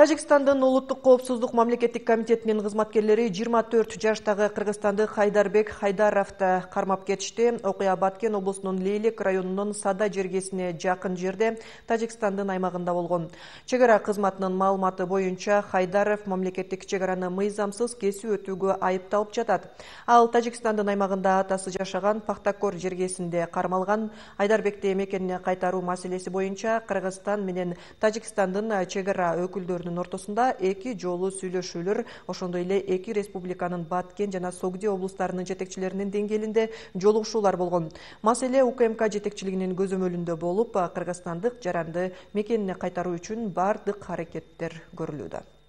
Тажикстандын улуттук коопсуздук мамлекеттик комитетинин кызматкерлери 24 жаштагы кыргызстандык Хайдарбек Хайдаровду кармап кетишти. Окуя Баткен облусунун Лейлек районунун Сада жергесине жакын жерде Тажикстандын аймагында болгон. Чек ара кызматынын маалыматы боюнча Хайдаров мамлекеттик чек араны мыйзамсыз кесип өтүүгө айыпталып жатат. Ал Тажикстандын аймагында атасы жашаган Пахтакор жергесинде кармалган. Айдарбекти мекенине кайтаруу маселеси боюнча Кыргызстан менен Тажикстандын чек ара өкүлдөрүнүн ортосунда эки жолу сүйлөшүүлөр, ошондой эле эки республиканын Баткен жана Согди облустарынын жетекчилеринин деңгээлинде жолугушуулар болгон. Маселе УКМК жетекчилигинин көзөмөлүндө болуп, кыргызстандык жаранды мекенине кайтаруу үчүн бардык аракеттер көрүлүүдө.